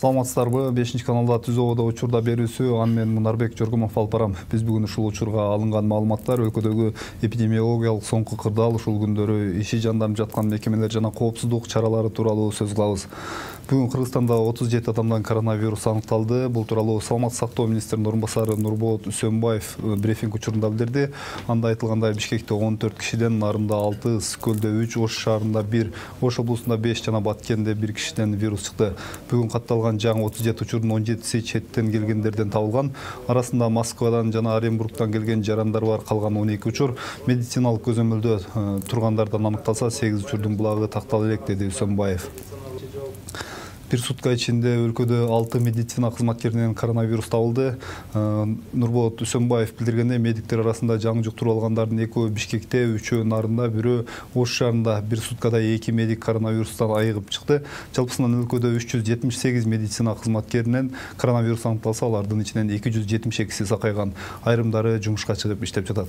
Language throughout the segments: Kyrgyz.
Саламатсыздарбы? 5-каналда түзөөдө учурда берүүсү аны мен Мунарбек Жоргомов алып барам. Биз бүгүн ушул учурга алынган маалыматтар өлкөдөгү эпидемиологиялык соңку кырдаал, ушул күндөрү иши жанданып жаткан мекемелер жана коопсуздук чаралары тууралуу сөз кылабыз. Бүгүн Кыргызстанда 37 адамдан коронавирус аныкталды. Бул тууралуу Саламаттык сактоо министринин орун басары Нурболот Үсөнбаев брифинг учурунда билдирди. Анда айтылгандай, Бишкекте 14 кишиден, Нарында 6, Скөлдө 3, Ош шаарында 1, Ош облусунда 5 жана Баткенде 1 кишиден вирус чыкты. Бүгүн катталган жаңы 37 учурдун 17си четтен келгендерден табылган. Арасында Москвадан жана Оренбургтан келген жарандар бар. Калган 12 учур медициналык көзөмөлдө тургандардан аныкталса, 8 учурдун булагы тактала элек, деди Үсөнбаев. Bir сутка ичинде өлкөдө 6 медицина кызматкеринен коронавирус табылды. Нурболот Үсөнбаев билдиргендей, медиктер арасында жаңы жуктуруп алгандардын 2-өө Бишкекте, 3-өө Нарында, 1-өө Ош шаарында. Bir суткада 2 медик коронавирустан айыгып чыкты. Жалпысынан өлкөдө 378 медицина кызматкеринен коронавирус аныкталса, алардын ичинен 272си сакайган. Айрымдары жумушка чыгып иштеп жатат.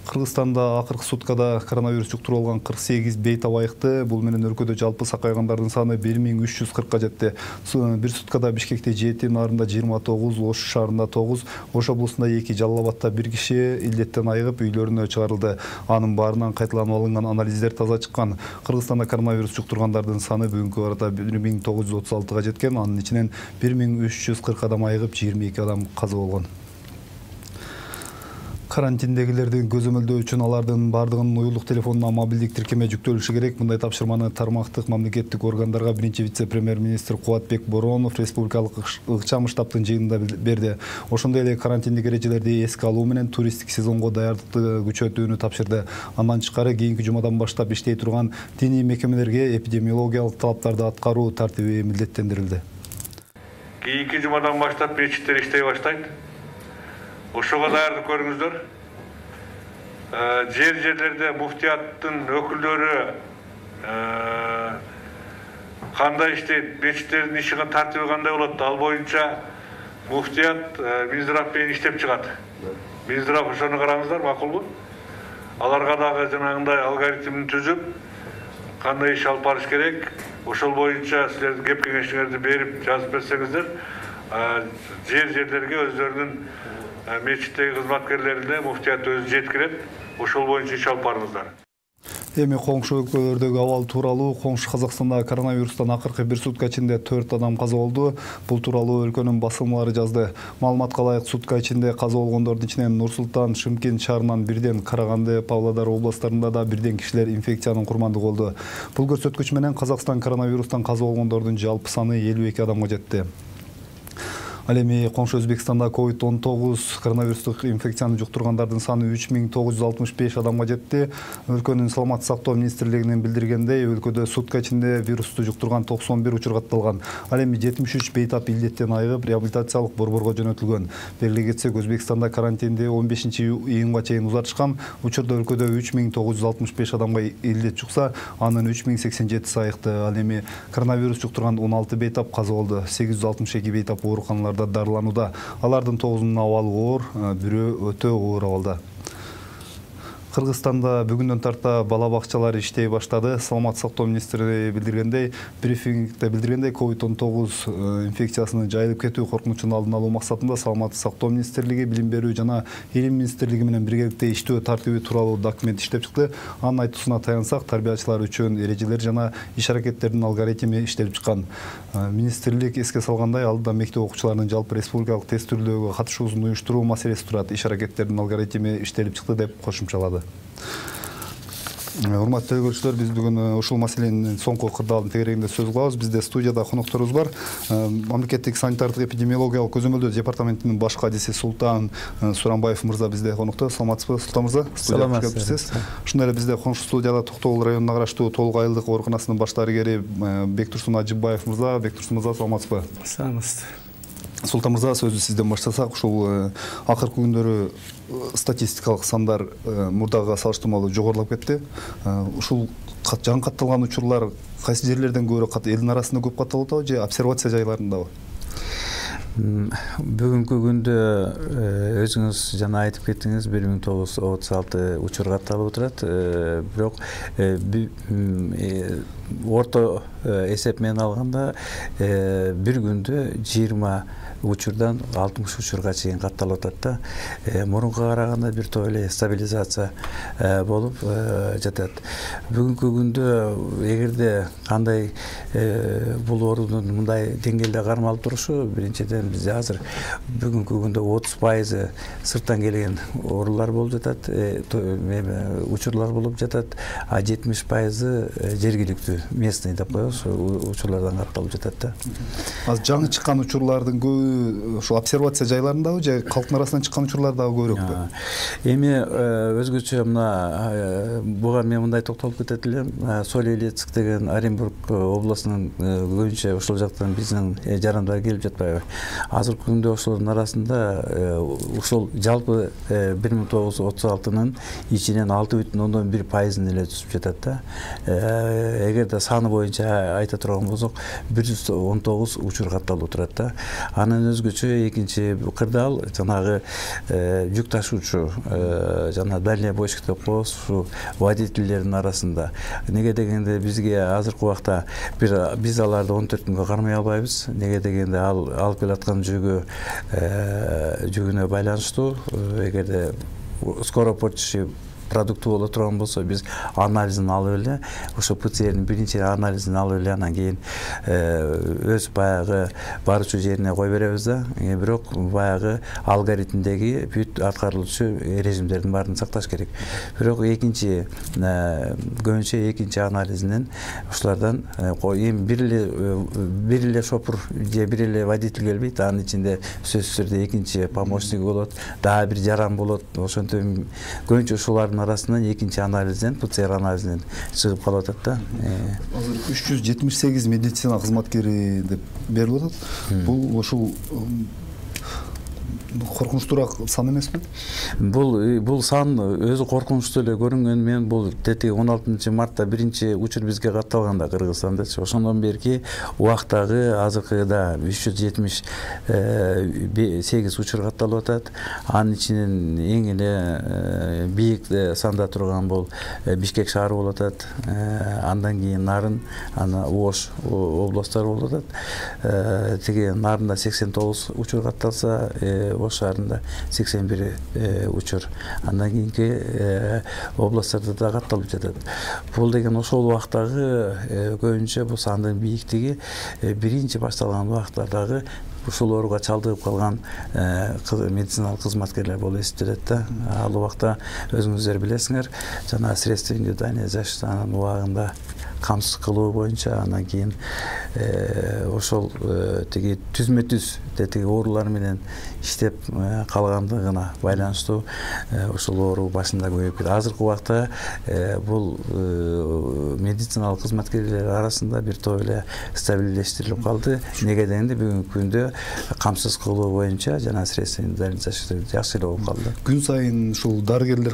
Кыргызстанда акыркы суткада коронавирус жуктуруп алган 48 бейтап айыкты. Бул менен өлкөдө жалпы сакайгандардын саны 1340-ка жетти. Bir суткада Бишкекте 7, Нарында 29, Ош шаарында 9, Ош облусунда 2, Жалал Абадта 1 киши илдеттен айыгып үйлөрүнө чыгарылды. Анын баарынан кайталанып алынган анализдер таза чыккан. Кыргызстанда коронавирус жуктургандардын саны бүгүнкү арада 1936-га жеткен. Анын ичинен 1340 адам айыгып, 22 адам каза болгон. Карантиндегилердин көзөмөлдөө үчүн алардын бардыгынын уюлдук телефонуна мобилдик тиркеме жүктөлүшү керек. Мындай тапшырманы тармактык мамлекеттик органдарга биринчи вице-премьер-министр Кубатбек Боронов республикалык ыкчам штабтын жыйынында берди. Ошондой эле карантиндик эрежелерди эске алуу менен туристтик сезонго даярдыкты күчөтүүнү тапшырды. Андан тышкары кийинки жумадан баштап иштей турган диний мекемелерге эпидемиологиялык талаптарды аткаруу тартиби милдеттендирилди. Кийинки жумадан баштап мечиттер иштей баштайт. Ошого даярдык көрүңүздөр. Жерлерде муфтияттын өкүлдөрү кандай иштейт, мечиттердин ишине тартиби кандай болот, ал боюнча муфтият Минздрав менен иштеп чыгат. Минздрав ошону караңыздар, макулбу? Аларга дагы жанагындай алгоритмин түзүп, кандай иш алып барыш керек, ошол боюнча силердин кеп кеңешиңерди берип жазып берсеңиздер, жерлерге өздөрүнүн мечиттеги кызматкерлерине муфтият өзү жеткирет, ошол боюнча иш алып барыңыздар. Эми коңшу өлкөлөрдөгү абал тууралуу. Коңшу Казакстанда коронавирустан акыркы 1 сутка ичинде 4 адам каза болду. Бул тууралуу өлкөнүн басылмалары жазды. Маалыматка ылайык, сутка ичинде каза болгондордун ичинен Нур Султан, Шымкент шаарынан бирден, Караганды, Павлодар областарында да бирден кишилер инфекциянын курмандыгы болду. Бул көрсөткүч менен Казакстан коронавирустан каза болгондордун жалпы саны 52 адамга жетти. Ал эми коңшу Өзбекстанда COVID-19 коронавирустук инфекцияны жуктургандардын саны 3965 адамга жетти. Өлкөнүн Саламаттык сактоо министрлигинин билдиргендей, өлкөдө сутка ичинде вирусту жуктурган 91 учур катталган. Ал эми 73 бейтап илдеттен айыгып, реабилитациялык борборго жөнөтүлгөн. Белгилей кетсек, Өзбекстанда карантинди 15-июнга чейин узартышкан. Учурда өлкөдө 3965 адамга илдет жукса, анын 3087 айыкты. Ал эми коронавирус жуктурган 16 бейтап каза болду. 862 бейтап ооруканаларда дарыланууда. Алардын 9-унун абалы оор, бирөө өтө оор абалда. Кыргызстанда бүгүндөн тарта бала бакчалар иштей баштады. Саламаттык сактоо министри билдиргендей, брифингде билдиргендей, COVID-19 инфекциясынын жайылып кетүү коркунучун алдын алуу максатында Саламаттык сактоо министрлиги, Билим берүү жана Илим министрлиги менен биргеликте иштөө тартиби тууралуу документ иштеп чыкты. Анын айтуусуна таянсак, тарбиячылар үчүн эрежелер жана иш-аракеттердин алгоритми иштелип чыккан. Министрлик эске салгандай, алдыда мектеп окуучуларынын жалпы республикалык тест түрдөгү катышуусун уюштуруу маселеси турат. Иш-аракеттердин алгоритми иштелип чыкты деп кошумчалады. Урматтуу көрүүчүлөр, биз бүгүн ушул маселенин соңку кырдаалын тегерегинде сөз кылабыз. Бизде студияда конокторубуз бар. Мамлекеттик санитардык эпидемиологиялык көзөмөлдөө департаментинин баш кадиси Султан Сурамбаев мырза бизде конокто. Саламатсызбы, Султан мырза? Саламатсыз. Ошондой эле бизде коңшу студияда Токтогул районуна караштуу Толук айылдык ооруканасынын баш дарыгери Бектурсун Ажибаев мырза. Бектурсун мырза, саламатсызбы? Саламатсыз. Султан мырза, сөздү сизден баштасак, ушул акыркы күндөрү статистикалык сандар мурдагыга салыштырмалуу жогорулап кетти. Ушул жаңы катталган учурлар кайсы жерлерден көбүрөөк элдин арасында көп катталып атабы же обсервация жайларындабы? Бүгүнкү күндө өзүңүз жана айтып кеттиңиз 1936 учур катталып отурат. Бирок орто эсеп менен алганда бир күндө 20 учурдан 60 учурга чейин катталып атат да. Мурунга караганда бир топ эле стабилизация болуп жатат. Бүгүнкү күндө эгерде кандай бул оорунун мындай деңгээлде кармалып турушу, биринчиден бизде азыр бүгүнкү күндө 30% сырттан келген оорулар болуп жатат, учурлар болуп жатат, а 70% жергиликтүү местный деп коебуз, учурлардан катталып жатат да. Азыр жаңы чыккан учурлардын көбү ошо обсервация жайларындабы же калктын арасынан чыккан учурлар дагы көбүрөкпү? Эми өзгөчө мына буга мен мындай токтолуп кетет элем. Соль-Илецк деген Оренбург областынын көбүнчө ошол жактан биздин жарандар келип жатпайбы? Азыркы күндө ошолордун арасында ошол жалпы 1936-нын ичинен 6,1% эле түшүп жатат да. Эгерде саны боюнча айта турган болсок, 119 учур катталып турат да. Анын өзгөчө экинчи кырдаал жанагы жүк ташуучу жана дальнобойщик деп коебуз, ушу водительдердин арасында. Неге дегенде бизге азыркы убакта биз аларды 14 күнгө кармай албайбыз. Неге дегенде алып келаткан жүгүнө байланыштуу, эгерде скоропортчий продукты боло турган болсо, биз анализин алып эле, ошо ПЦРдин биринчи анализин алып эле, анан кийин өз баягы баруучу жерине кое беребиз да. Бирок баягы алгоритмдеги бүт аткарылуучу режимдердин баарын сакташ керек. Бирок көбүнчө экинчи анализинен ошолардан эми бир эле шопур же бир эле водитель келбейт, анын ичинде сөзсүз түрдө экинчи помощниги болот, дагы бир жаран болот. Ошентип көбүнчө ушулардын арасынан экинчи анализден, ПЦР анализинен чыгып калып атат да. Азыр 378 медицина кызматкери деп берилип атат. Бул ошол коркунучтуураак сан эмеспи? Бул сан өзү коркунучтуу эле көрүнгөн. Мен бул 16 мартта биринчи учур бизге катталганда Кыргызстандачы, ошондон берки убактагы азыркыда 378 учур катталып атат. Анын ичинен эң эле бийик санда турган бул Бишкек шаары болуп атат. Андан кийин Нарын, ана Ош областтары болуп атат. Тиги Нарында 89 учур катталса, Ош шаарында 81 учур. Андан кийинки областтарда да катталып жатат. Бул деген ошол убактагы көбүнчө бул сандын бийиктиги биринчи башталган убактардагы ушул ооруга чалдыгып калган медициналык кызматкерлер болуп эсептелет да. Ал убакта өзүңүздөр билесиңер, жана средства индивидуальной защиты анын убагында камсыз кылуу боюнча, анан кийин ошол тиги түзмө-түз тиги оорулар менен иштеп калгандыгына байланыштуу ошол оору башында көбөйүп кетти. Азыркы убакта бул медициналык кызматкерлер арасында бир топ эле стабилдештирилип калды. Неге дегенде бүгүнкү күндө камсыз кылуу боюнча жана средства индивидуальной защиты жакшы эле болуп калды. Күн сайын ушул дарыгерлер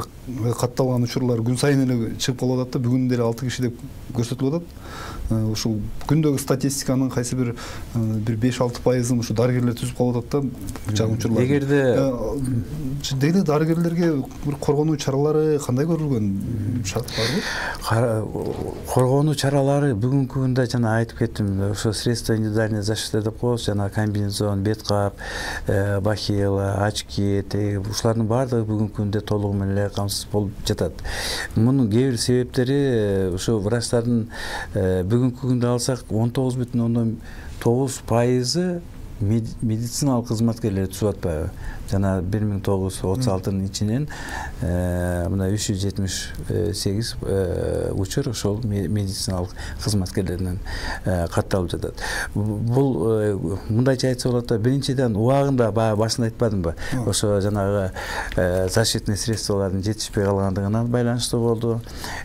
катталган учурлар күн сайын эле чыгып калып атат да. Бүгүн деле 6 киши деп көрсөтүлүп атат. Ушул күндөгү статистиканын кайсы бир 5-6% ушу дарыгерлер түзүп калып атат да, чагым учурлар. Эгерде деги дарыгерлерге бир коргонуу чаралары кандай көрүлгөн? Шарт барбы? Коргонуу чаралары бүгүнкү күндө жана айтып кеттим, ошо средства индивидуальной защиты деп коебуз, жана комбинезон, беткап, бахила, очки, ушулардын баардыгы бүгүнкү күндө толугу менен эле камсыз болуп жатат. Мунун кээ бир себептери ушу врачтардын бүгүнкү күндө алсак 19,9% медициналык кызматкерлер түшүп атпайбы? Жана 1936-нын ичинен мына 378 учур ошол медициналык кызматкерлерден катталып жатат. Бул мындайча айтса болот да, биринчиден убагында баягы башында айтпадымбы? Ошо жанагы защитный средстволордун жетишпей калгандыгына байланыштуу болду.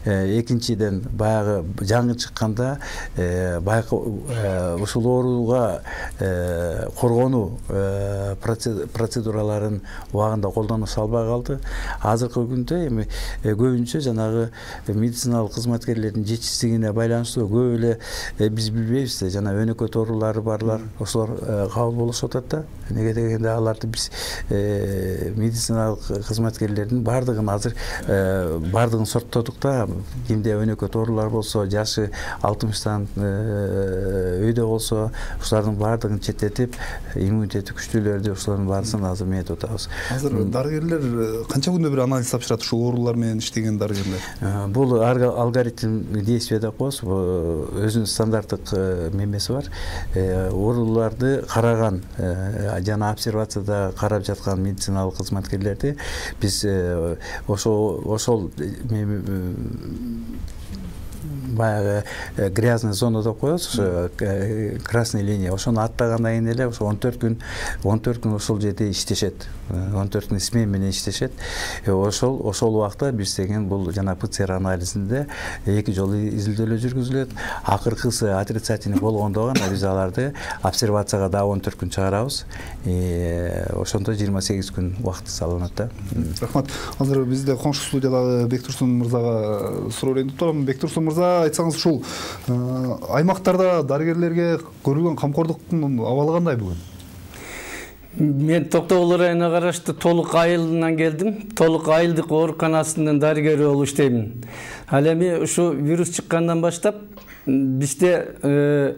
Экинчиден баягы жаңы чыкканда ушул ооруга коргонуу процедураларын убагында колдонулуп албай калды. Азыркы күндө эми көбүнчө жанагы медициналык кызматкерлердин жетишсиздигине байланыштуу көп эле биз билбейбиз да, жана өнөкөт оорулары барлар ошолор кабыл болушуп атат да. Неге дегенде аларды биз медициналык кызматкерлердин бардыгын азыр бардыгын сорттодук да. Кимде өнөкөт оорулар болсо, жашы 60-тан өйдө болсо, ошолордун бардыгын четтетип, иммунитети күчтүүлөрдү ошолордун баарысын азыр метип атабыз. Азыр дарыгерлер канча күндө бир анализ тапшырат ушул оорулар менен иштеген дарыгерлер? Бул алгоритм действия деп коебуз. Өзүнүн стандарттык мемеси бар. Ооруларды караган жана обсервацияда карап жаткан медициналык кызматкерлерди биз ошол баягы грязный зона деп коебуз, красный линия. Ошону аттагандан кийин эле ошо 14 күн ошол жерде иштешет. 14 күн смена менен иштешет. Ошол убакта биз деген бул жана ПЦР анализинде 2 жолу изилдөөлөр жүргүзүлөт. Акыркысы отрицательный болгондо гана биз аларды обсервацияга дагы 14 күн чыгарабыз. Ошондо 28 күн убакыт салынат да. Рахмат. Азыр бизде коңшу студиядагы Бектурсун мырзага суроо берип турам. Бектурсун мырза, айтсаңыз ушул аймактарда дарыгерлерге көрүлгөн камкордуктун абалы кандай бүгүн? Мен Токтогул районуна караштуу Толук айылынан келдим. Толук айылдык ооруканасынын дарыгери болуп иштеймин. Ал эми ушу вирус чыккандан баштап бизде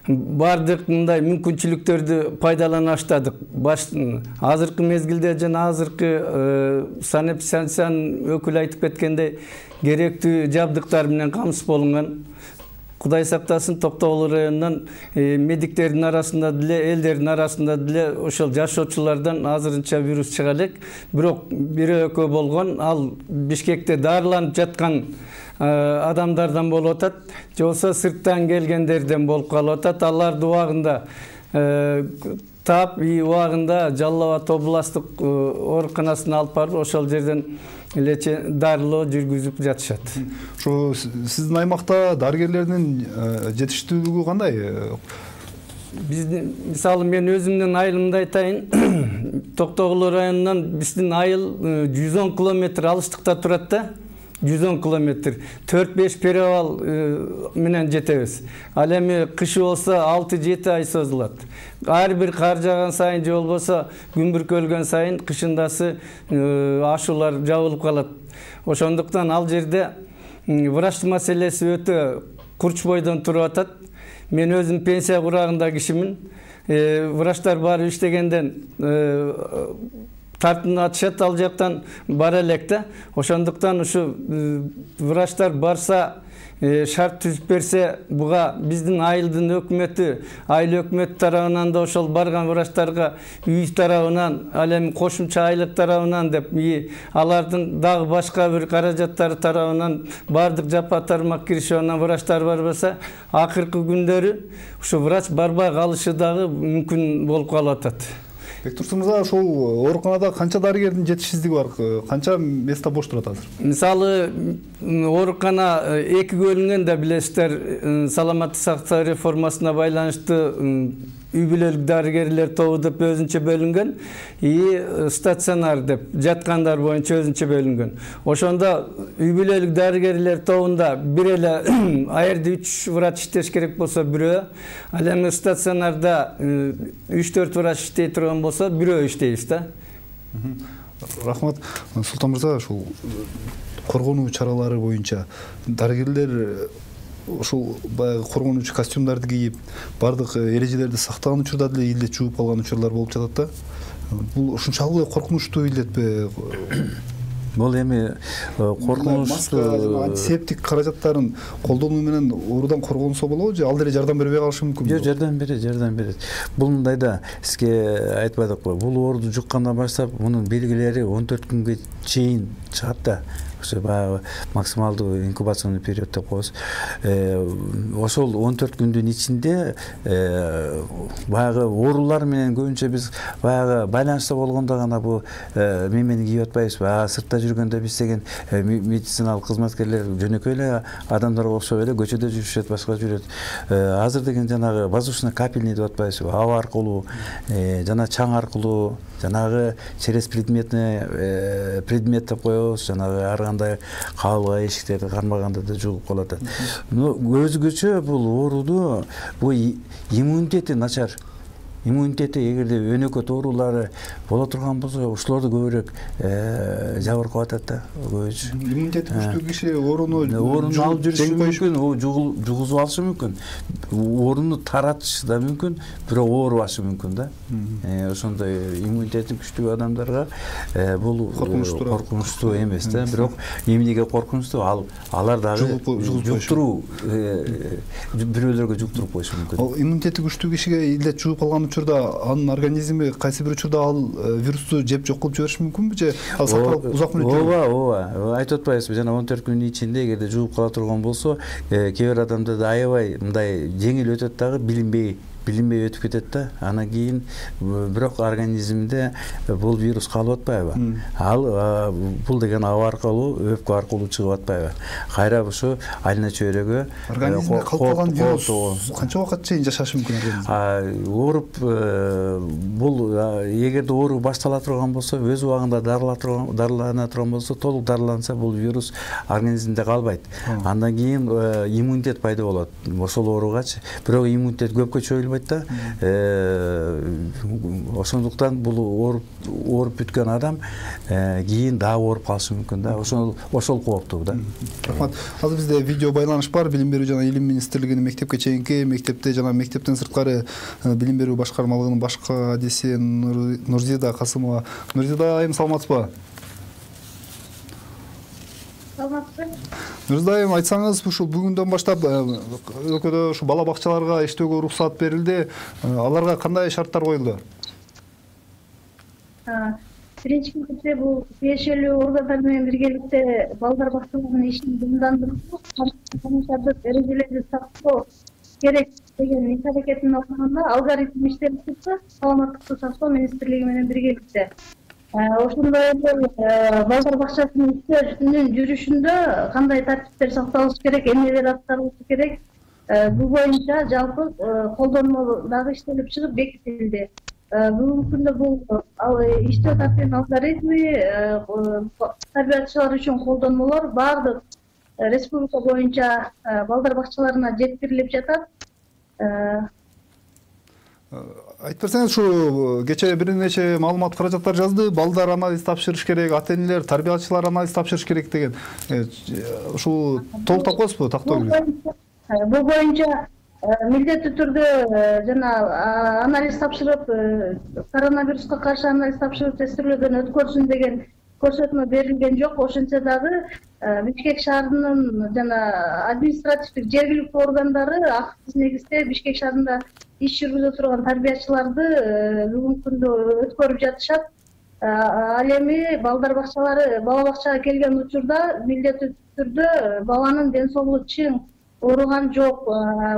бардык мындай мүмкүнчүлүктөрдү пайдалана баштадык. Азыркы мезгилде жана азыркы санэпидстанциянын өкүлү айтып кеткендей керектүү жабдыктар менен камсыз болунган. Кудай сактасын, Токтогул районунан медиктердин арасында деле, элдердин арасында деле ошол жашоочулардан азырынча вирус чыга элек. Бирок бирөө-экөө болгон, ал Бишкекте дарыланып жаткан адамдардан болуп атат, же болбосо сырттан келгендерден болуп калып атат. Аларды убагында таап, убагында Жалал Абад областтык ооруканасына алып барып, ошол жерден дарылоо жүргүзүп жатышат. Ошо сиздин аймакта дарыгерлердин жетиштүүлүгү кандай? Биздин, мисалы, мен өзүмдүн айылымды айтайын. Токтогул районунан биздин айыл 110 километр алыстыкта турат да. 110 километр. 4-5 перевал менен жетебиз. Ал эми кышы болсо 6-7 ай созулат. Ар бир кар жааган сайын же болбосо күн бүркөлгөн сайын кышындасы ашуулар жабылып калат. Ошондуктан ал жерде врач маселеси өтө курч бойдон туруп атат. Мен өзүм пенсия курагында кишимин. Врачтар барып иштегенден тартынатышат ал жактан бара элек да. Ошондуктан ушу врачтар барса, шарт түзүп берсе, буга биздин айылдын өкмөтү, айыл өкмөт тарабынан да ошол барган врачтарга үй тарабынан, ал эми кошумча айлык тарабынан деп, алардын дагы башка бир каражаттары тарабынан бардык жапа тармак киришип анан врачтар барбаса, акыркы күндөрү ушу врач барбай калышы дагы мүмкүн болуп калып атат. Бектурсун мырза, ошол ооруканада канча дарыгердин жетишсиздиги бар? Канча место бош турат азыр? Мисалы, оорукана 2 бөлүнгөн да, билесиздер, саламаттык сактоо реформасына байланыштуу үй бүлөлүк дарыгерлер тобу деп өзүнчө бөлүнгөн, стационар деп жаткандар боюнча өзүнчө бөлүнгөн. Ошондо үй бүлөлүк дарыгерлер тобунда бир эле аерде 3 врач иштеш керек болсо бирөө, ал эми стационарда 3-4 врач иштей турган болсо бирөө иштейбиз да. Рахмат. Султан мырза, ушул коргонуу чаралары боюнча дарыгерлер ошол баягы коргонуучу костюмдарды кийип, бардык эрежелерди сактаган учурда деле илдет жууп калган учурлар болуп жатат да. Бул ушунчалык коркунучтуу илдетпи? Бул эми коркунучтуу антисептик каражаттарын колдонуу менен оорудан коргонсо болобу же ал деле жардам бербей калышы мүмкүнбү? Жок, жардам берет. Бул мындай да, сизге айтпадыкпы, бул ооруду жуккандан баштап мунун белгилери 14 күнгө чейин чыгат да. Ошо баягы максималдуу инкубационный период деп коебуз. Ошол 14 күндүн ичинде баягы оорулар менен көбүнчө биз баягы байланышта болгондо гана бул мемени кийип атпайбызбы? Сыртта жүргөндө биз деген медициналык кызматкерлер жөнөкөй эле адамдарга окшоп эле көчөдө жүрүшөт, башка жүрөт. Азыр деген жанагы воздушно капельный деп атпайбызбы, аба аркылуу жана чаң аркылуу жанагы через предмет деп коебуз, жанагы ар кандай кабылга эшиктерди кармаганда да жугуп калат. Өзгөчө бул ооруду бул иммунитети начар. Иммунитети эгерде өнөкөт оорулары боло турган болсо, ушуларды көбүрөөк жабыркап атат да. Иммунитети күчтүү киши ооруну алып жүрүшү мүмкүн, жугузуп алышы мүмкүн. Ооруну таратышы да мүмкүн, бирок оорубашы мүмкүн да. Ошондой иммунитети күчтүү адамдарга бул коркунучтуу эмес да. Бирок эмнеге коркунучтуу? Алар дагы жуктуруу, бирөөлөргө жуктуруп коюшу мүмкүн. Ал иммунитети күчтүү кишиге илдет жугуп калган учурда анын организми кайсы бир учурда ал вирусту жеп жок кылып жибериши мүмкүнбү же ал сакталып узак мөөнөттө? Ооба, айтып атпайбызбы, жана 14 күндүн ичинде эгерде жугуп кала турган болсо, кээ бир адамдарда аябай мындай жеңил өтөт дагы, билинбей өтүп кетет да. Анан кийин бирок организмде бул вирус калып атпайбы? Ал бул деген аба аркылуу, өпкө аркылуу чыгып атпайбы? Кайра ушу айна чөйрөгө организмде калып калган вирус канча убакыт чейин жашашы мүмкүн организм? Ооруп бул эгерде оору баштала турган болсо, өз убагында дарылана турган болсо, толук дарыланса бул вирус организмде калбайт. Андан кийин иммунитет пайда болот ошол ооругачы. Бирок иммунитет көпкө чөйүлбөйт да. Ошондуктан бул ооруп бүткөн адам кийин дагы ооруп калышы мүмкүн да. Ошол кооптуу да. Рахмат. Азыр бизде видео байланыш бар. Билим берүү жана илим министрлигинин мектепке чейинки, мектепте жана мектептен сырткары билим берүү башкармалыгынын баш кадиси Нурзида Касымова. Нурзида айым, саламатсызбы? Нурзида айым, айтсаңыз, ушул бүгүндөн баштап өлкөдө ушу бала бакчаларга иштөөгө уруксат берилди. Аларга кандай шарттар коюлду? Биринчи кезекте бул тиешелүү органдар менен биргеликте балдар бакчаларынын ишин жандандыруу, санитардык эрежелерди сактоо керек деген иш аракетин алганда алгоритм иштелип чыкты. Саламаттыкты сактоо министрлиги менен биргеликте. Ошондой эле балдар бакчасынын иштеринин жүрүшүндө кандай тартиптер сакталышы керек, эмнелер аткарылышы керек, бул боюнча жалпы колдонмо дагы иштелип чыгып бекитилди. Бүгүнкү күндө бул иштөө тартибинин алгоритми, тарбиячылар үчүн колдонмолор баардык республика боюнча балдар бакчаларына жеткирилип жатат. Айтып берсеңиз, ушу кечээ бир нече маалымат каражаттар жазды. Балдар анализ тапшырыш керек, ата-энелер, тарбиячылар анализ тапшырыш керек деген. Ушул толуктап коесузбу, тактоо керек? Бул боюнча милдеттүү түрдө жана анализ тапшырып, коронавируска каршы анализ тапшырып тестирлөөдөн өткөрсүн деген көрсөтмө берилген жок. Ошентсе дагы Бишкек шаарынын жана административдик жергиликтүү органдары акысыз негизде Бишкек шаарында иш жүргүзө турган тарбиячыларды бүгүнкү күндө өткөрүп жатышат. Ал эми балдар бакчалары бала бакчага келген учурда милдеттүү түрдө баланын ден соолугу чың, ооруган жок,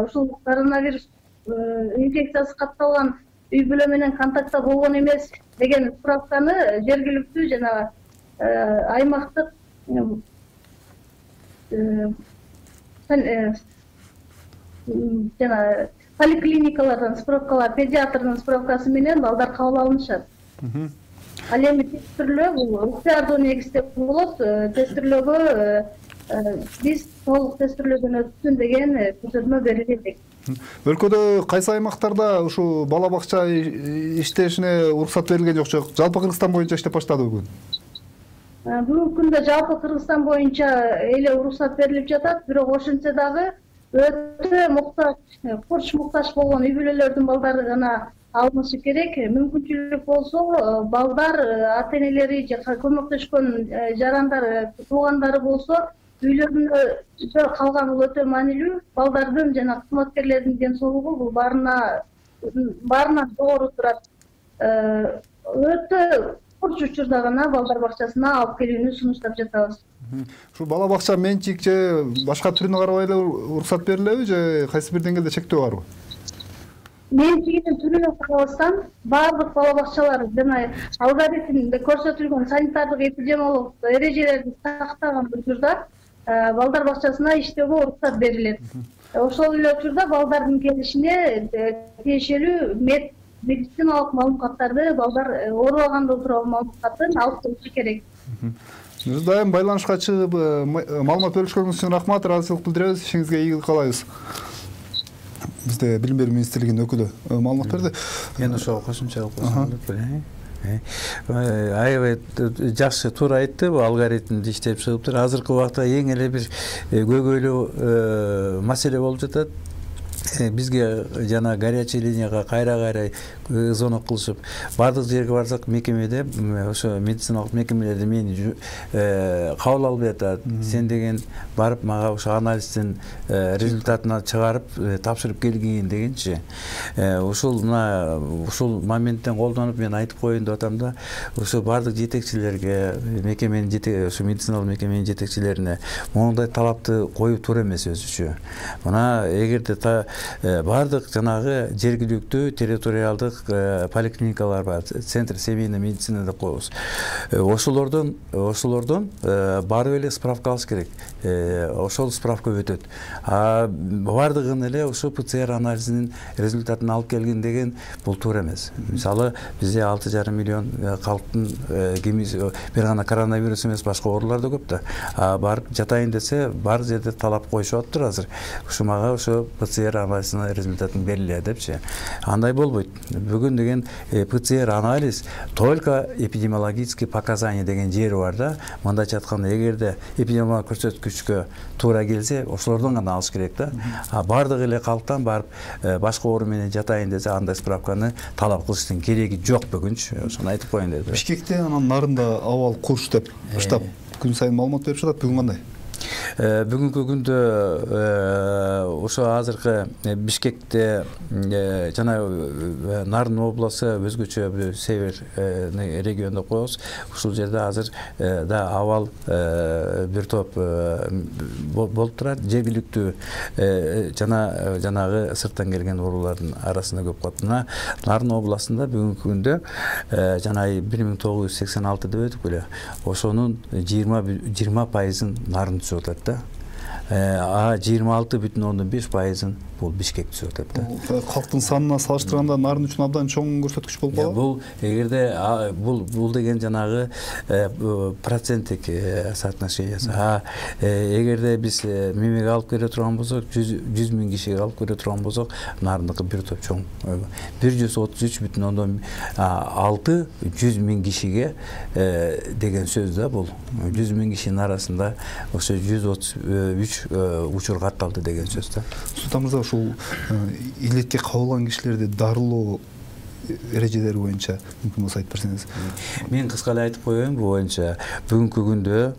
ушул коронавирус инфекциясы катталган үй бүлө менен контактта болгон эмес деген справканы жергиликтүү жана аймактык жана поликлиникалардан справкалар, педиатрдын справкасы менен балдар кабыл алынышат. Ал эми тестирлөө бул ыктыярдуу негизде болот. Тестирлөөгө биз толук тестирлөөдөн өтсүн деген көрсөтмө берилди. Өлкөдө кайсы аймактарда ушу бала бакча иштешине уруксат берилген жок? Жалпы Кыргызстан боюнча иштеп баштады бүгүн? Бүгүнкү күндө жалпы Кыргызстан боюнча эле уруксат берилип жатат, бирок ошентсе дагы өтө муктаж, курч муктаж болгон үй бүлөлөрдүн балдары гана алынышы керек. Мүмкүнчүлүк болсо балдар ата-энелери же көмөктөшкөн жарандар, туугандары болсо үйлөрүндө калган бул өтө маанилүү. Балдардын жана кызматкерлердин ден соолугу бул баарынан жогору турат. Өтө курч учурда гана балдар бакчасына алып келүүнү сунуштап жатабыз. Ушу бала бакча менчик же башка түрүнө карабай эле уруксат берилеби же кайсы бир деңгээлде чектөө барбы? менчигинин түрүнө карабастан баардык бала бакчалар жана алгоритмде көрсөтүлгөн санитардык эпидемиологдук эрежелерди сактаган учурда балдар бакчасына иштөөгө уруксат берилет. Ошол эле учурда балдардын келишине тиешелүү медициналык маалыматтарды балдар оорубаганда тууралуу маалыматтарын алып келиши керек. Биз дайым байланышка чыгып маалымат бөлүшкөнүңүз үчүн рахмат, ыраазычылык билдиребиз. Ишиңизге ийгилик каалайбыз. Бизде Билим берүү министрлигинин өкүлү маалымат берди. Мен ошого кошумча кылып койсом деп элем. Аябай жакшы туура айтты, бул алгоритмди иштеп чыгыптыр. Азыркы убакта эң эле бир көйгөйлүү маселе болуп жатат. Бизге жана горячий линияга кайра звонок кылышып, бардык жерге барсак мекемеде ошо медициналык мекемелерде мени кабыл албай атат. Сен деген барып мага ошо анализдин результатын чыгарып тапшырып келгин дегенчи. Ушул моменттен колдонуп мен айтып коеюн деп атам да, ошо бардык жетекчилерге, мекеменин ошо медициналык мекеменин жетекчилерине моундай талапты коюу туура эмес өзүчө. Мына эгерде бардык жанагы жергиликтүү территориалдык поликлиникалар бар, центр семейной медицины деп коебуз. Ошолордон барып эле справка алыш керек. Ошол справка өтөт. Бардыгын эле ошо ПЦР анализинин результатын алып келгин деген бул туура эмес. Мисалы, бизде 6,5 миллион калктын бир гана коронавирус эмес, башка оорулар да көп да. Барып жатайын десе, бар жерде талап коюшуп атыптыр азыр. Ушу мага ошо ПЦР анализинин результатын бериле депчи. Андай болбойт. Бүгүн деген ПЦР анализ только эпидемиологический показания деген жери бар да. Мындайча айтканда, эгерде эпидемиологиялык көрсөткүчкө туура келсе, ошолордон гана алыш керек да. Бардык эле калктан барып башка оору менен жатайын десе, андай справканы талап кылыштын кереги жок бүгүнчү. Ошону айтып коеюн дедим. Бишкекте анан нарында абал курч деп штаб күн сайын маалымат берип жатат. Бүгүн кандай? Бүгүнкү күндө ошо азыркы Бишкекте жана Нарын областы өзгөчө бир север регион деп коебуз. Ушул жерде азыр да абал бир топ болуп турат. Жергиликтүү жанагы сырттан келген оорулардын арасында көп калат. Мына Нарын областында бүгүнкү күндө жана 1986 деп өтүп эле, ошонун 20% Нарын түсүп атат да. 26,5% бул Бишкек түсүп атат да. Калктын санына салыштырганда Нарын үчүн абдан чоң көрсөткүч болуп калат. Бул эгерде бул деген жанагы проценттик соотношениясы. Эгерде биз мемеге алып келе турган болсок, 100 миң кишиге алып келе турган болсок, Нарындыкы бир топ чоң. 133,6 100 миң кишиге деген сөз да бул. 100 миң кишинин арасында ошо 133 учур катталды деген сөз да. Султан мырза, ушул илетке кабылган кишилерди дарылоо эрежелери боюнча мүмкүн болсо айтып берсеңиз. Мен кыска эле айтып коеюн бул боюнча. Бүгүнкү күндө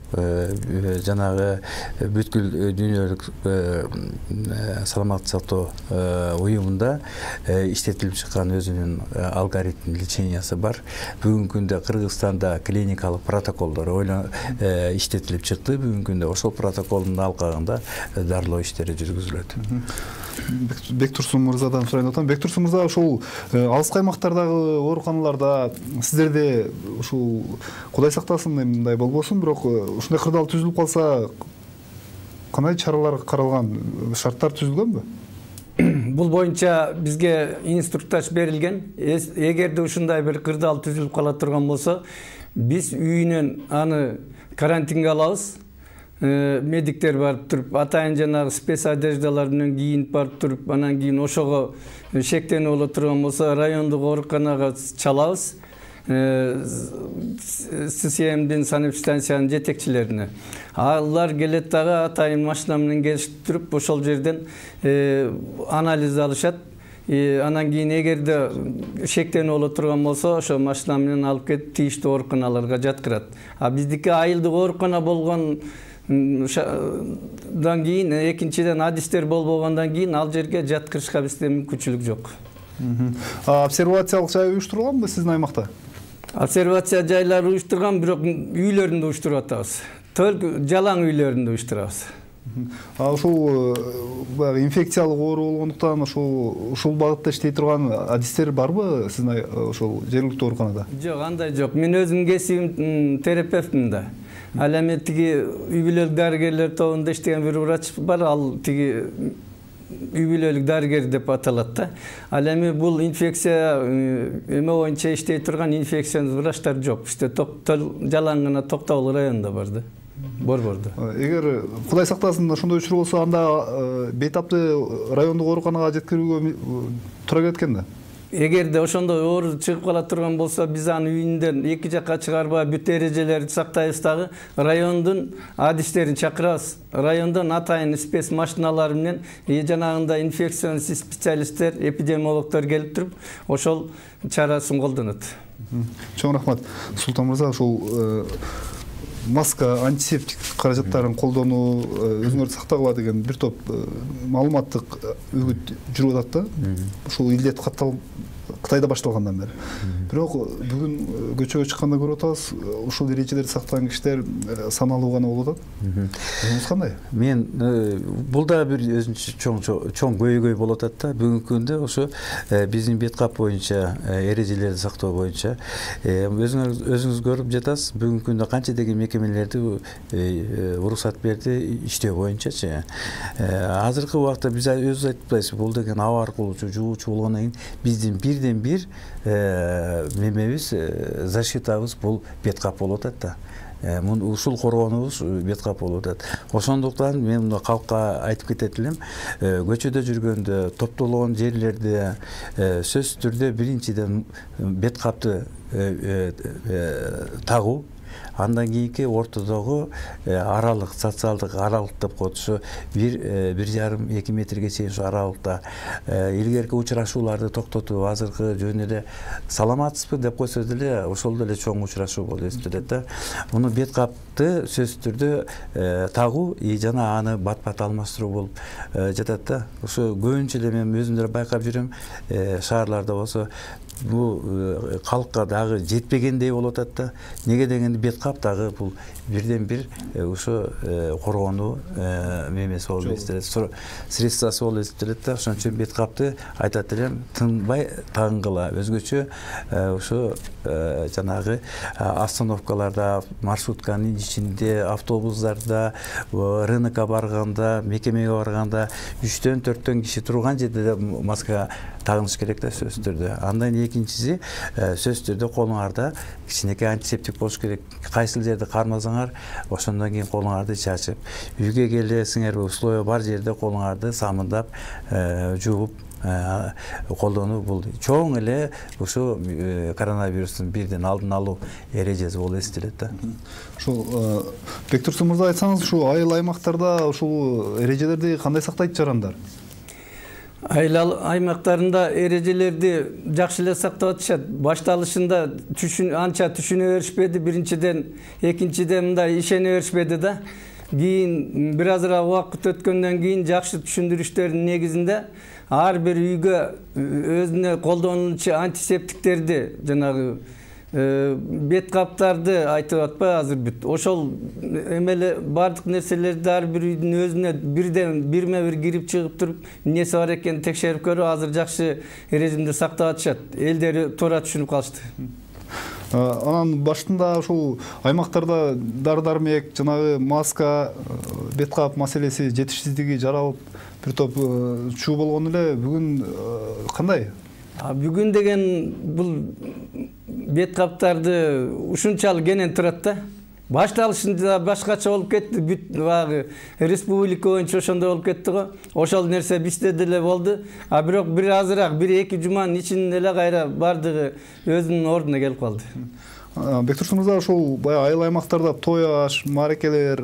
жанагы бүткүл дүйнөлүк саламаттык сактоо уюмунда иштетилип чыккан өзүнүн алгоритм лечениясы бар. Бүгүнкү күндө Кыргызстанда клиникалык протоколдор иштетилип чыкты. Бүгүнкү күндө ошол протоколдун алкагында дарылоо иштери жүргүзүлөт. Бектурсун мырзадан сурайын деп атам. Бектурсун мырза, ушул алыс аймактардагы ооруканаларда сиздерде ушул Кудай сактасын мындай болбосун, бирок ушундай кырдаал түзүлүп калса кандай чаралар каралган, шарттар түзүлгөнбү? Бул боюнча бизге инструктаж берилген. Эгерде ушундай бир кырдаал түзүлүп кала турган болсо, биз үйүнөн аны карантинге алабыз. Медиктер барып туруп, атайын жанагы спец одеждалар менен кийинип барып туруп, анан кийин ошого шектенүү боло турган болсо, райондук ооруканага чалабыз. ССМдин санэпидстанциянын жетекчилерине. Алар келет дагы атайын машина менен келишип туруп, ошол жерден анализ алышат. Анан кийин эгерде шектенүү боло турган болсо, ошо машина менен алып кетип тийиштүү ооруканаларга жаткырат. Биздики айылдык оорукана болгон дан кийин, экинчиден адистер болбогондон кийин ал жерге жаткырышка бизде мүмкүнчүлүк жок. Обсервациялык жай уюштурулганбы сиздин аймакта? Обсервация жайлары уюштурган, бирок үйлөрүндө уюштуруп атабыз. Только жалаң үйлөрүндө уюштурабыз. Ушул баягы инфекциялык оору болгондуктан ушул багытта иштей турган адистер барбы сиздин ошол жергиликтүү ооруканада? Жок, андай жок. Мен өзүм кесибим терапевтмин да. Ал эми тиги үй бүлөлүк дарыгерлер тобунда иштеген бир врач бар, ал тиги үй бүлөлүк дарыгер деп аталат да. Ал эми бул инфекция эме боюнча иштей турган инфекционист врачтар жок. Бизде жалаң гана Токтогул районунда бар да. Борбордо. Эгер Кудай сактасын ошондой учур болсо, анда бейтапты райондук ооруканага жеткирүүгө туура келет экен да. Эгерде ошондой оору чыгып кала турган болсо, биз аны үйүндөн эки жакка чыгарбай бүт эрежелерди сактайбыз дагы, райондун адистерин чакырабыз. Райондон атайын спец машиналары менен жанагындай инфекционист специалисттер, эпидемиологдор келип туруп, ошол чарасын колдонот. Чоң рахмат. Султан мырза, ушул маска, антисептик каражаттарын колдонуу, өзүңөрдү сактагыла деген бир топ маалыматтык үгүт жүрүп атат да. Ушул илдет Кытайда башталгандан бери. Бирок бүгүн көчөгө чыкканда көрүп атабыз, ушул эрежелерди сактаган кишилер саналуу гана болуп атат. Өзүңүз кандай? Мен бул да бир өзүнчө чоң көйгөй болуп атат да. Бүгүнкү күндө ошо биздин бет кап боюнча, эрежелерди сактоо боюнча өзүңүз көрүп жатасыз. Бүгүнкү күндө канча деген мекемелерди уруксат берди иштөө боюнчачы. Азыркы убакта биз өзүбүз айтып атпайбызбы, бул деген аба аркылуу жугуучу болгондон кийин биздин бирден бир немебиз, защитабыз бул бет кап болуп атат да. Ушул коргонубуз бет кап болуп атат. Ошондуктан мен калкка айтып кетет элем, көчөдө жүргөндө, топтолгон жерлерде сөзсүз түрдө биринчиден бет капты тагуу, андан кийинки ортодогу аралык, социалдык аралык деп коет, ушу 1,5-2 метрге чейин ушу аралыкта илгерки учурашууларды токтотуп, азыркы жөн эле саламатсызбы деп койсо деле ошол деле чоң учурашуу болуп эсептелет да. Муну бет капты сөзсүз түрдө тагуу жана аны бат-бат алмаштыруу болуп жатат да. Ошо көбүнчө эле мен өзүм деле байкап жүрөм, шаарларда болсо бул калкка дагы жетпегендей болуп атат да. Неге дегенде бет кап дагы бул бирден бир ошо коргонуу мемеси болуп эсептелет, средствосы болуп эсептелет да. Ошон үчүн бет капты айтат элем, тынбай тагынгыла, өзгөчө ошо жанагы остановкаларда, маршрутканын ичинде, автобустарда, рынокко барганда, мекемеге барганда 3-4 киши турган жерде маска тагыныш керек да, сөзсүз түрдө. Андан экинчиси, сөзсүз түрдө колуңарда кичинекей антисептик болуш керек. Кайсыл жерде кармасаңар, ошондон кийин колуңарды чачып, үйгө келесиңерби, условия бар жерде колуңарды самындап, жууп колдонуу бул чоң эле ушу коронавирустун бирден алдын алуу эрежеси болуп эсептелет да. Ушул Бектурсун мырза, айтсаңыз, ушул айыл аймактарда ушул эрежелерди кандай сактайт жарандар? Айыл аймактарында эрежелерди жакшы эле сактап атышат. Башталышында анча түшүнө беришпеди, биринчиден, экинчиден мындай ишене беришпеди да. Кийин бир азыраак убакыт өткөндөн кийин жакшы түшүндүрүштөрдүн негизинде ар бир үйгө өзүнө колдонулчу антисептиктерди, жанагы бет каптарды айтып атпайбы азыр бүт. Ошол эмеле бардык нерселерди ар бир үйдүн өзүнө бирден бирме-бир кирип чыгып туруп, эмнеси бар экенин текшерип көрүп, азыр жакшы режимде сактап атышат. Элдери туура түшүнүп калышты. Анан башында ушул аймактарда дары-дармек, жанагы маска, бет кап маселеси жетишсиздиги жаралып, бир топ чуу болгон эле. Бүгүн кандай? Бүгүн деген бул бет каптарды ушунчалык кенен турат да. Башталышында башкача болуп кетти, бүт багы республика боюнча ошондой болуп кетти го. Ошол нерсе бизде деле болду. Бирок бир азыраак 1-2 жуманын ичинде эле кайра бардыгы өзүнүн ордуна келип калды. Бектурсун мырза, ушул баягы айыл аймактарда той аш, мааракелер,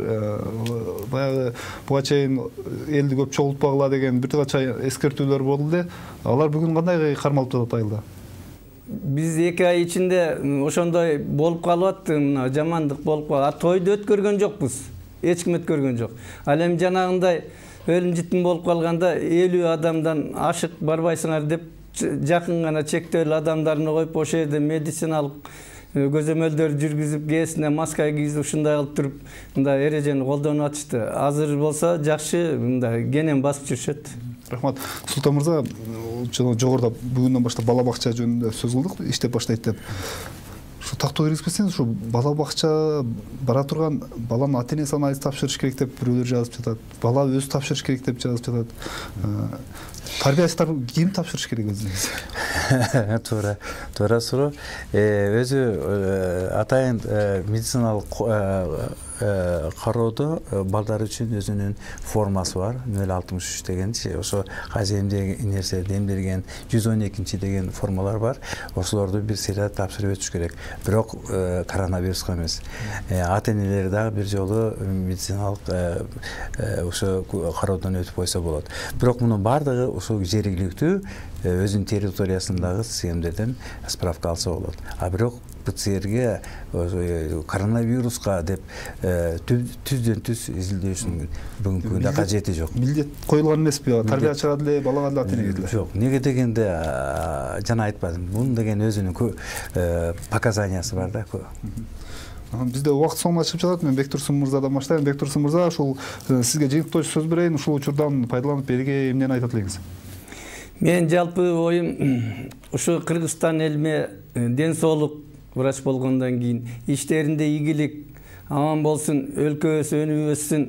баягы буга чейин элди көп чогултпагыла деген бир кача эскертүүлөр болду эле. Алар бүгүн кандай кармалып жатат айылда? Биз 2 ай ичинде ошондой болуп калып атты, мына жамандык болуп калды. Тойду өткөргөн жокпуз. Эч ким өткөргөн жок. Ал эми жанагындай өлүм житим болуп калганда 50 адамдан ашык барбайсыңар деп жакын гана чектөөлүү адамдарды коюп, ошол жерде медициналык көзөмөлдөр жүргүзүп кээсине маска кийип ушундай кылып туруп мындай эрежени колдонуп атышты. Азыр болсо жакшы мындай кенен басып жүрүшөт. Рахмат. Султан мырза, жогоруда бүгүндөн баштап бала бакча жөнүндө сөз кылдык, иштеп баштайт деп. Ушу тактоо киргизбесеңиз, ушу бала бакча бара турган баланын ата-энеси анализ тапшырыш керек деп бирөөлөр жазып жатат. Бала өзү тапшырыш керек деп жазып жатат. Тарбиячылар ким тапшырыш керек өзүнүз? Туура суроо. Өзү атайын медициналык кароодо балдар үчүн өзүнүн формасы бар. 063 дегенчи, ошо каземде нерселерди эмдирген 112 деген формалар бар. Ошолорду бир серия тапшырып өтүш керек. Бирок коронавируска эмес. Ата-энелер дагы бир жолу медициналык ошо кароодон өтүп койсо болот. Бирок мунун бардыгы ошо жергиликтүү өзүнүн территориясындагы СМдерден справка алса болот. А бирок ПЦРге коронавируска деп түздөн түз изилдөөчүнүн бүгүнкү күндө кажети жок. Милдет коюлган эмеспи? Тарбиячыга деле, балага деле, ата-энеге деле? Жок. Неге дегенде жана айтпадым. Бунун деген өзүнүн показаниясы бар да. Бизде убакыт соңуна чыгып жатат. Мен Бектурсун мырзадан баштайм. Бектурсун мырза, ушул сизге жыйынтыктоочу сөз берейин. Ушул учурдан пайдаланып элге эмнени айтат элеңиз? Мен жалпы оюм ушу Кыргызстан элиме ден соолук врач болгондон кийин иштеринде ийгилик, аман болсун, өлкөбүз өнүгүп өссүн.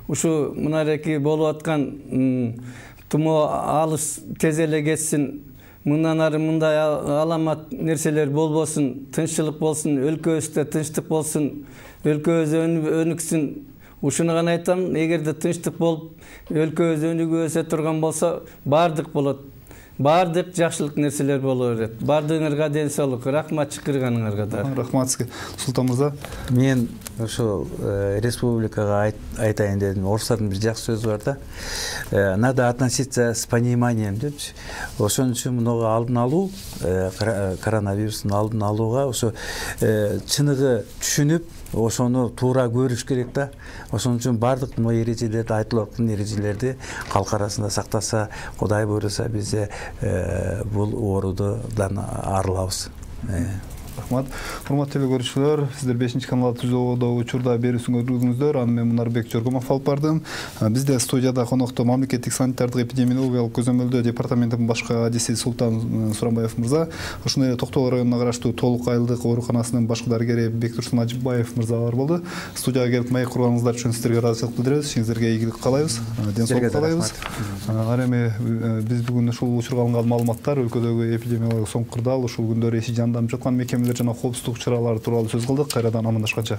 Ушу мынарки болуп аткан тумоо алыс тез эле кетсин. Мындан ары мындай аламат нерселер болбосун, тынччылык болсун, өлкөбүздө тынчтык болсун, өлкөбүз өнүксүн. Ушуну гана айтам, эгерде тынчтык болуп, өлкөбүз өнүгүп өсө турган болсо, бардык болот. Бардык жакшылык нерселер боло берет. Бардыгыңарга ден соолук. Рахмат чакырганыңарга да. Рахмат сизге. Султан мырза. Мен ошол республикага айтайын дедим. Орустардын бир жакшы сөзү бар да. Надо относиться с пониманием депчи. Ошон үчүн мунуга алдын алуу, коронавирустун алдын алууга ошо чыныгы түшүнүп, ошону туура көрүш керек да. Ошон үчүн бардык мына эрежелерди, айтылып аткан эрежелерди калк арасында сактаса, Кудай буйруса биз бул оорудан арылабыз. Рахмат. Урматтуу көрүүчүлөр, сиздер 5-канал түзүүдө учурда берүүсүн көрдүңүздөр. Аны мен Мунарбек Жоргомов алып бардым. Бизде студияда конокто мамлекеттик санитардык эпидемиологиялык көзөмөлдөө департаментинин башкы адиси Султан Сурамбаев мырза, ошондой эле Токтогул районуна караштуу Толук айылдык ооруканасынын башкы дарыгери Бектурсун Ажибаев мырзалар болду. Студияга келип маек курганыңыздар үчүн сиздерге ыраазычылык билдиребиз. Ишиңизерге ийгилик каалайбыз. Ден соолук каалайбыз. Ары эми биз бүгүн ушул учурга алынган маалыматтар, өлкөдөгү эпидемиологиялык соңку кырдаал, ушул күндөрү иши жандам жаткан мекемелер жана коопсуздук чаралары тууралуу сөз кылдык. Кайрадан амандашканча.